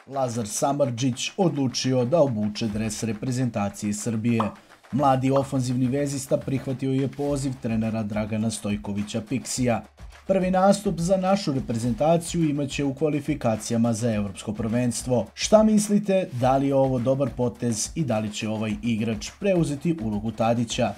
Lazar Samardžić odlučio da obuče dres reprezentacije Srbije. Mladi ofanzivni vezista prihvatio je poziv trenera Dragana Stojkovića Piksija. Prvi nastup za našu reprezentaciju imaće u kvalifikacijama za Evropsko prvenstvo. Šta mislite, da li je ovo dobar potez i da li će ovaj igrač preuzeti ulogu Tadića?